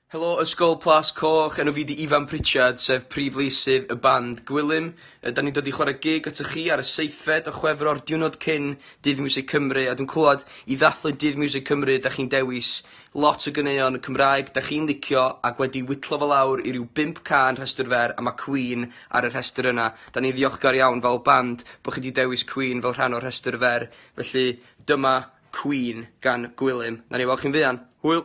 Helo Ysgol Plas Coch, enw fi 'di Ifan Pritchard, sef prif leisydd y band Gwilym. Da ni'n dod i chwarae gig atoch chi ar y seithfed o Chwefror, diwrnod cyn Dydd Miwsig Cymru, a dwi'n clywed i ddathlu Dydd Miwsig Cymru da chi'n dewis lot o ganeuon Cymraeg da chi'n licio ac wedi whitlo fo lawr i ryw bump cân rhestr fer a ma' Queen ar y rhestr yna. Da ni'n ddiolchgar iawn fel band bod chi 'di dewis Queen fel rhan o'r rhestr fer, felly dyma Queen gan Gwilym. Nawn ni weld chi'n fuan. Hwyl!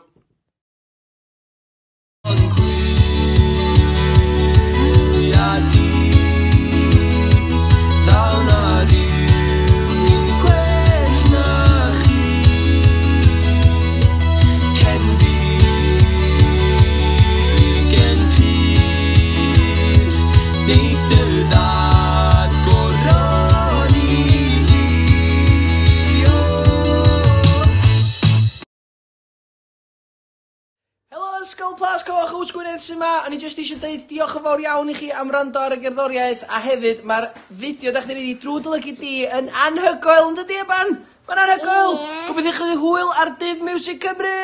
Helo Ysgol Plas Coch, Yws Gwynedd sy 'ma. O'n i jyst eisiau deud diolch yn fawr iawn i chi am wrando ar y gerddoriaeth a hefyd mae'r fideo 'dach chi'n neud i Drwy Dy Lygid Di yn anhygoel yn dydi Eban? Mae'n anhygoel! Ie. Gobeithio chi hwyl ar Dydd Miwsig Cymru!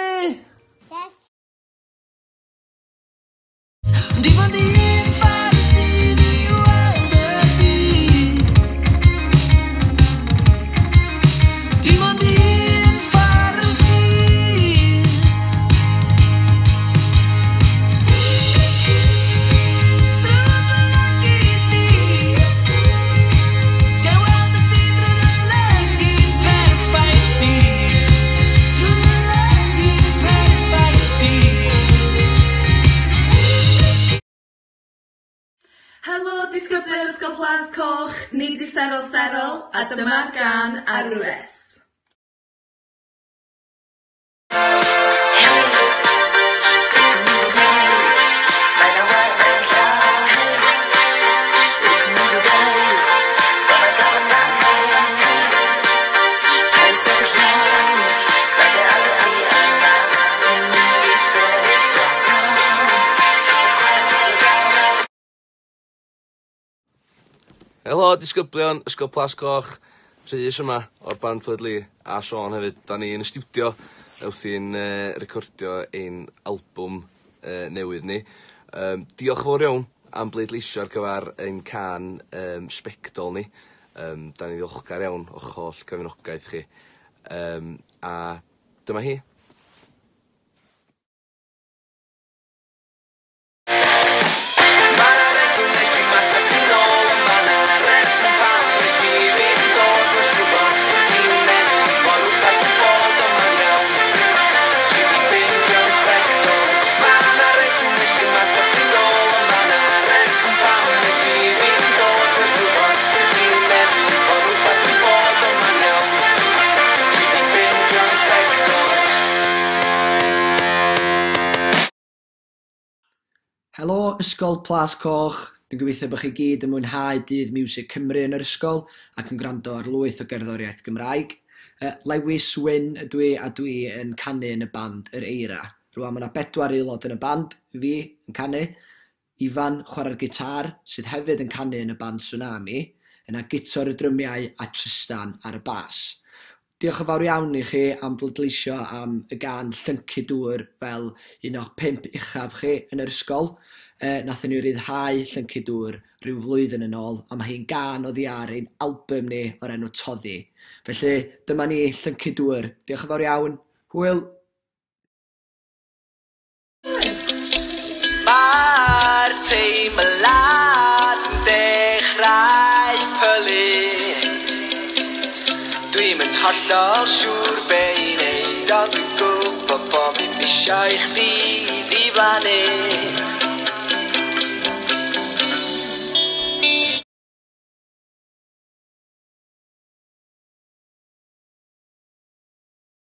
Dim ond un ffordd sydd i weld y byd. Dim ond un ffordd sydd. Drwy dy lygid di. Gael weld y byd drwy dy lygid perffaith di. Drwy dy lygid perffaith di. Helo disgyblion Ysgol Plas Coch, ni 'di Serol Serol a dyma'r gân Arwres. Hei, be ti'n mynd i wneud? Mae 'na waed ar ein llaw. Hei, wyt ti'n mynd i ddeud Fo' 'na gafon fan hyn? Hei, paid sefyll lawr, mae dy alibi yma. Ti'n mynd i sefyll drosodd, dros y chwaer, dros y frawd. Helo disgyblion Ysgol Plas Coch, Rhys yma o'r band Floyd Lee a Siôn hefyd. Da ni yn y stiwdio wrthi'n recordio ein albwm newydd ni. Diolch yn fawr iawn am bleidleisio ar gyfer ein cân Sbectol ni. Da ni'n ddiolchgar iawn o'ch holl gefnogaeth chi. A dyma hi. Ma' 'na reswm nes i'm atab chdi nôl ond ma' 'na reswm pam nes i ddim dod mae'n siŵr bo' chdi'n meddwl bo' rwbath yn bod ond ma'n iawn Dwi 'di ffeindio'n sbectol. Ma' 'na reswm nes i'm atab chdi nôl ond ma' 'na reswm pam nes i ddim dod mae'n siŵr bo' chdi'n meddwl bo' rwbath yn bod ond ma'n iawn Dwi 'di ffeindio'n sbectol. Helo Ysgol Plas Coch, dwi'n gobeithio bod chi gyd yn mwynhau Dydd Miwsig Cymru yn yr ysgol ac yn gwrando ar lwyth o gerddoriaeth Gymraeg. Lewis Wyn ydw i a dwi yn canu yn y band Yr Eira. Rwan mae 'na bedwar aelod yn y band, fi yn canu, Ifan chwarae'r gitâr sydd hefyd yn canu yn y band Swnami, yna Guto ar y drymiau a Trystan ar y bas. Diolch yn fawr iawn i chi am bleidleisio am y gân Llyncu Dŵr fel un o'ch pump uchaf chi yn yr ysgol. Nathon ni ryddhau Llyncu Dŵr rhyw flwyddyn yn ôl a mae hi'n gân oddi ar ein albym ni o'r enw Toddi. Felly dyma ni, Llyncu Dŵr. Diolch yn fawr iawn. Hwyl! Mae'r teimlad yn dechrau pylu. Dwi'm yn hollol siŵr be i neud ond dwi'n gwybod bo' fi'm isio i chdi ddiflannu.